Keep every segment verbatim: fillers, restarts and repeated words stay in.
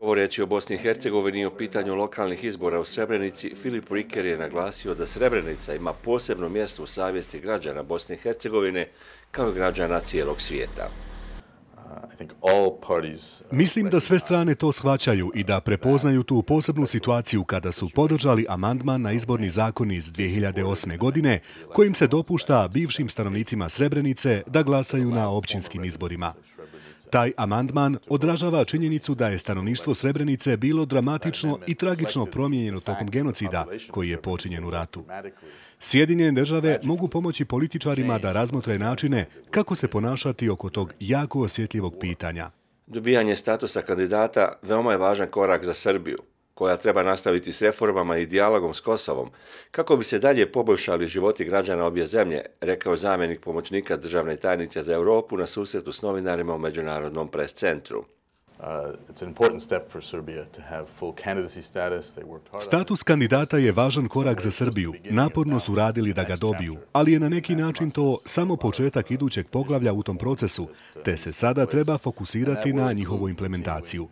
Govoreći o Bosni i Hercegovini i o pitanju lokalnih izbora u Srebrenici, Filip Riker je naglasio da Srebrenica ima posebno mjesto u savjesti građana Bosne i Hercegovine kao i građana cijelog svijeta. Mislim da sve strane to shvaćaju i da prepoznaju tu posebnu situaciju kada su podržali amandman na izborni zakon iz dvije hiljade osme. godine, kojim se dopušta bivšim stanovnicima Srebrenice da glasaju na općinskim izborima. Taj amandman odražava činjenicu da je stanovništvo Srebrenice bilo dramatično i tragično promijenjeno tokom genocida koji je počinjen u ratu. Sjedinjene države mogu pomoći političarima da razmotre načine kako se ponašati oko tog jako osjetljivog pitanja. Dobijanje statusa kandidata veoma je važan korak za Srbiju, koja treba nastaviti s reformama i dijalogom s Kosovom, kako bi se dalje poboljšali životi građana obje zemlje, rekao je zamjenik pomoćnika državne tajnice za Europu na susretu s novinarima u Međunarodnom pres centru. Status kandidata je važan korak za Srbiju. Naporno su radili da ga dobiju, ali je na neki način to samo početak idućeg poglavlja u tom procesu, te se sada treba fokusirati na njihovu implementaciju.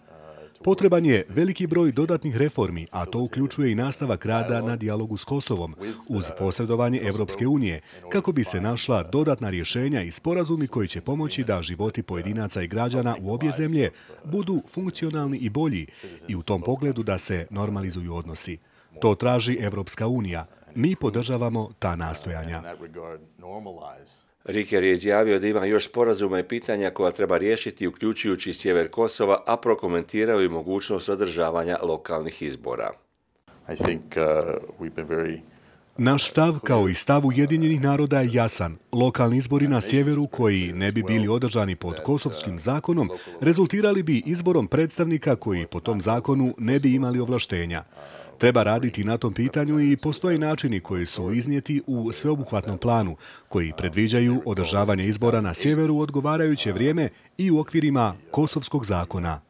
Potreban je veliki broj dodatnih reformi, a to uključuje i nastavak rada na dijalogu s Kosovom, uz posredovanje Evropske unije, kako bi se našla dodatna rješenja i sporazumi koji će pomoći da životi pojedinaca i građana u obje zemlje budu funkcionalni i bolji i u tom pogledu da se normalizuju odnosi. To traži Evropska unija. Mi podržavamo ta nastojanja. Riker je izjavio da ima još sporazuma i pitanja koja treba riješiti, uključujući sjever Kosova, a prokomentirao i mogućnost održavanja lokalnih izbora. Naš stav, kao i stav Ujedinjenih naroda, je jasan. Lokalni izbori na sjeveru, koji ne bi bili održani pod kosovskim zakonom, rezultirali bi izborom predstavnika koji po tom zakonu ne bi imali ovlaštenja. Treba raditi na tom pitanju i postoje načini koji su iznijeti u sveobuhvatnom planu, koji predviđaju održavanje izbora na sjeveru u odgovarajuće vrijeme i u okvirima kosovskog zakona.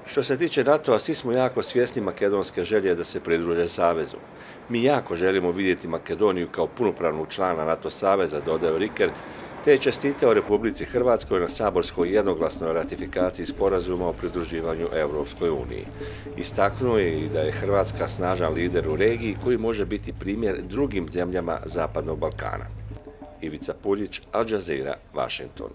Što se tiče NATO-a, svi smo jako svjesni makedonske želje da se pridruže savezu. Mi jako želimo vidjeti Makedoniju kao punopravnog člana NATO saveza, dodao Riker, te je čestitao Republici Hrvatskoj na saborskoj jednoglasnoj ratifikaciji sporazuma o pridruživanju Evropskoj uniji. Istaknuo je i da je Hrvatska snažan lider u regiji koji može biti primjer drugim zemljama Zapadnog Balkana. Ivica Puljić, Al Jazeera, Washington.